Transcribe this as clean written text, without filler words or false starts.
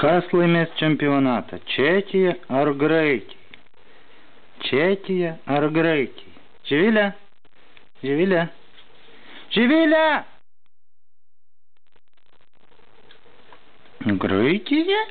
Kas laimės čempionatą? Čekija ar Graikija? Čekija ar Graikija? Živilė? Živilė? Živilė! Graikija?